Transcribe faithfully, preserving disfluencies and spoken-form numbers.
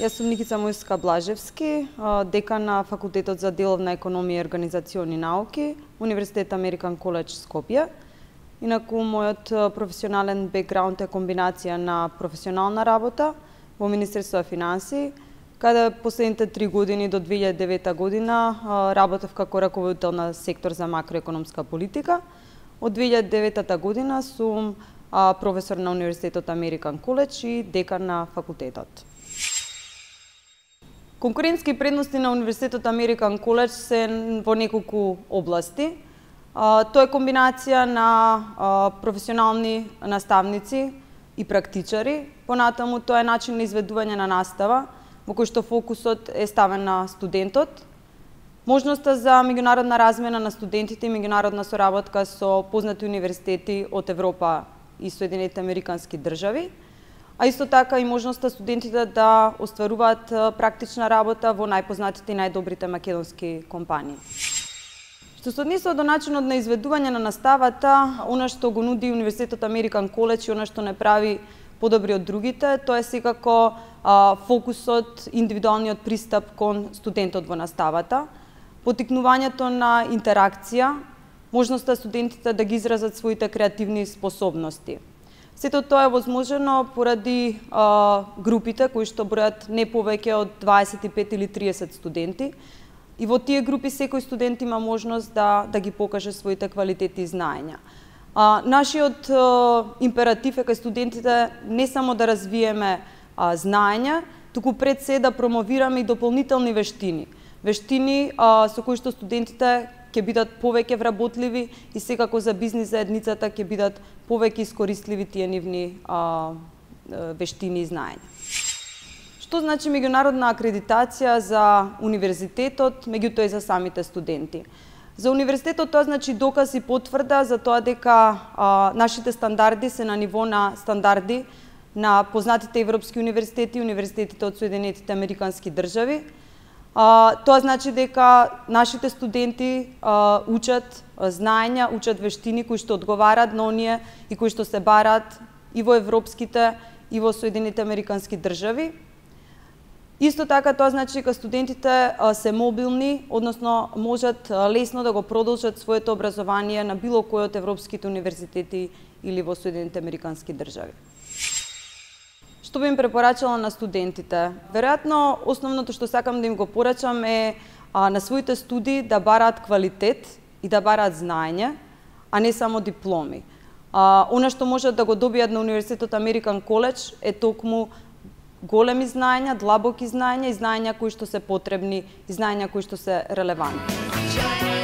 Јас сум Никица Мојска Блажевски, декан на Факултетот за деловна економија и организациони науки, Универзитет Американ Коледж Скопје. Инаку, мојот професионален бекграунд е комбинација на професионална работа во Министерство за финансии, каде последните три години до две илјади и девета година работев како раководител на сектор за макроекономска политика. Од две илјади и деветата година сум професор на Универзитетот Американ Коледж и декан на факултетот. Конкурентски предности на Универзитетот Американ Коледж се во неколку области. Тоа е комбинација на професионални наставници и практичари. Понатаму тоа е начин на изведување на настава, во кој што фокусот е ставен на студентот. Можноста за меѓународна размена на студентите и меѓународна соработка со познати универзитети од Европа и Соединетите Американски држави, а исто така и можноста студентите да остваруваат практична работа во најпознатите и најдобрите македонски компании. Што се однесува до начинот на изведување на наставата, она што го нуди Универзитетот Американ Коледж и она што не прави подобри од другите, тоа е секако а, фокусот, индивидуалниот пристап кон студентот во наставата, поттикнувањето на интеракција, можноста студентите да ги изразат своите креативни способности. Сето тоа е возможено поради а, групите кои што бројат не повеќе од дваесет и пет или триесет студенти, и во тие групи секој студент има можност да, да ги покаже своите квалитети и знаења. А, нашиот а, императив е кај студентите не само да развиеме а, знаења, туку пред се да промовираме и дополнителни вештини. Вештини а, со кои што студентите ќе бидат повеќе вработливи и секако за бизнис заедницата ќе бидат повеќе искористливи тие нивни а, вештини и знаења. Што значи меѓународна акредитација за универзитетот, меѓутоа и за самите студенти? За универзитетот тоа значи доказ и потврда за тоа дека а, нашите стандарди се на ниво на стандарди на познатите европски универзитети и универзитетите од Соединетите Американски држави. А, тоа значи дека нашите студенти а, учат знаења, учат вештини кои што одговарат на оние и кои што се барат и во европските и во Соединетите Американски држави. Исто така тоа значи дека студентите а, се мобилни, односно можат а, лесно да го продолжат своето образование на било кој од европските универзитети или во Соединетите Американски држави. Што би им препорачала на студентите? Веројатно, основното што сакам да им го порачам е а, на своите студии да бараат квалитет и да бараат знаење, а не само дипломи. А, она што можат да го добијат на Универзитетот Американ Коледж е токму големи знаења, длабоки знаења и знаења кои што се потребни и знаења кои што се релевантни.